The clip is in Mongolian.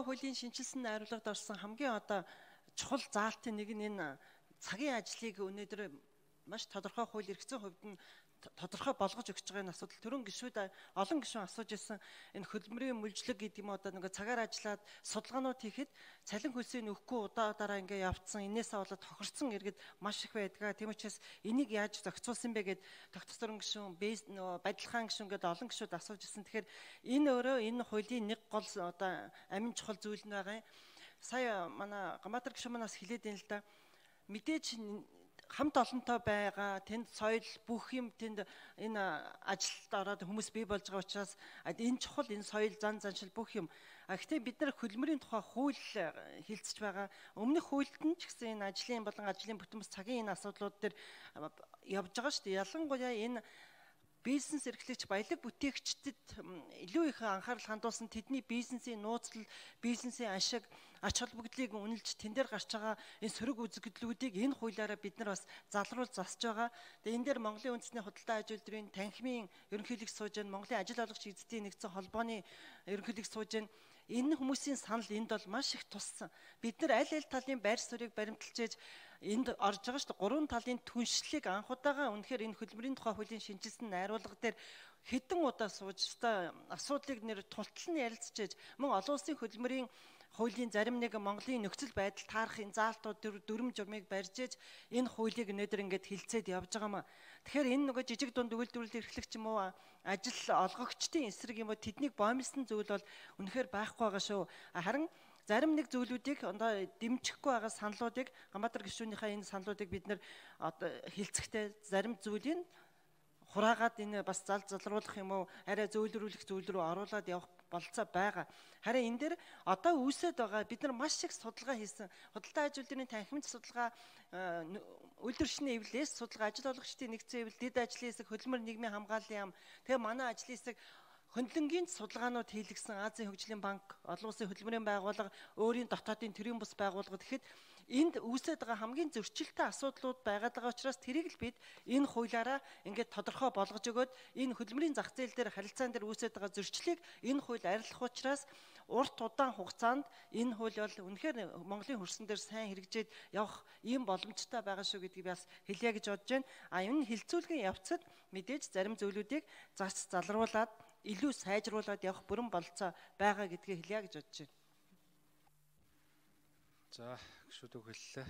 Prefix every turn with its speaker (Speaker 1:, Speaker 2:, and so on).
Speaker 1: Хуулийн шинжилсэн найруулгад орсон хамгийн одоо чухал заалтын нэг нь энэ цагийн ажлыг өнөөдөр маш тодорхой хууль эрхцэн хувьд нь тодорхой болгож өгч байгаа энэ асуудал төрөн гишүүд олон гишүүн асууж ирсэн энэ хөдөлмөрийн мүлжлэг гэдэг юм одоо нэг цагаар ажиллаад судалгаанууд хийхэд цалин хөлсийг нөхгүй удаадаараа ингээ явцсан энээсээ болоод тохирсон иргэд маш их байдаг. Тийм учраас энийг яаж зохицуулсан бэ гэд тогтцорон гишүүн бадилхан гишүүн гэдэг олон гишүүд асууж ирсэн. Тэгэхээр энэ өөрөө энэ хуулийн нэг гол одоо амин чухал зүйл нь байгаа юм. Сая манай Гамбатар гишүүн манаас хэлээд байна л да. Мэдээж хамт олонтой байгаа тэнд соёл бүх юм тэнд энэ ажилд ороод хүмүүс бий болж байгаа учраас энэ чухал энэ соёл зан заншил бүх юм. Гэхдээ бид нар хөдөлмөрийн тухай хууль хэлцэж байгаа. Өмнөх хуульд нь ч гэсэн энэ ажлын болон ажлын бүтэмс цагийн энэ асуудлууд дээр явж байгаа шүү дээ. Ялангуяа энэ бизнес эрхлэгч баялаг бүтээгчдэд илүү их анхаарал хандуулсан тэдний бизнесийн нууцлал, бизнесийн ашиг, ач холбогдлыг үнэлж тэн дээр гарч байгаа энэ сөрөг үзэгдлүүдийг энэ хуулиараа бид нар бас залруулж засж байгаа. Тэгээ энэ дээр Монголын үндэсний худалдаа аж үйлдвэрийн танхимын ерөнхийлөг сууж байна, Монголын ажил олгогч эзэдийн нэгдсэн холбооны ерөнхийлөг сууж байна. Энэ хүмүүсийн санал энд бол маш их туссан. Бид нар аль талын байр суурийг баримталж энд орж байгаа шүү дээ. Гурван талын түншлэлийг анх удаага үнэхээр энэ хөдөлмөрийн тухай хуулийн шинжилсэн найруулга дээр хэдэн удаа сууж асуудлыг нэр тултал нь ярилцчихэж мөн олон улсын хөдөлмөрийн хуулийн зарим нэг Монголын нөхцөл байдал таарах энэ заалтууд дүрм журмыг барьж ээж энэ хуулийг өнөөдөр ингээд хилцээд явж байгаамаа. Тэгэхээр энэ нөгөө жижиг дунд үйлдвэрлэл эрхлэгч юм уу ажил олгогчдын эсрэг юм уу тэднийг боомлсон зүйл бол үнэхээр байхгүй байгаа шүү. Харин зарим нэг зүйлүүдийг одоо дэмжихгүй байгаа саналуудыг Гамбатар гишүүнийхээ энэ саналуудыг бид нэр одоо хилцэхдээ зарим зүйлийг хураагаад энэ бас залруулах юм уу арай зөөлрүүлэх зүйл рүү оруулаад явах болцоо байгаа. Харин энэ дээр одоо үүсэт байгаа бид нар маш их судалгаа хийсэн. Худалдаа аж үйлдвэрийн танхимд судалгаа, үйлдвэрчний эвлэлээс судалгаа, ажил олгогчдын нэгдсэн эвлэл, дэд ажлын хэсэг, хөдөлмөр нийгмийн хамгааллын яам. Тэгээ манай ажлын хэсэг хөндлөнгийн судалгаанууд хийлгэсэн Азийн хөгжлийн банк, олон улсын хөдөлмөрийн байгууллага, өөрийн дотоодын төрийн бус байгууллагууд гэхэд энд үүсэж байгаа хамгийн зөрчилтэй асуудлууд байгаад байгаа учраас тэрийг л бид энэ хуулиараа ингээд тодорхой болгож өгөөд энэ хөдөлмөрийн зах зээл дээр харилцаан дээр үүсэж байгаа зөрчлийг энэ хууль арилгах учраас урт удаан хугацаанд энэ хууль бол үнэхээр Монголын хөрсөн дээр сайн хэрэгжээд явах ийм боломжтой байгаа шүү гэдгийг бас хэлье гэж бодож байна. Энэ хилцүүлгийн явцад мэдээж зарим зүйлүүдийг залруулад илүү сайжруулад явах бүрэн болцоо байгаа гэдгийг хэлье гэж бодож байна.
Speaker 2: За, гүшүүд үг хэллээ.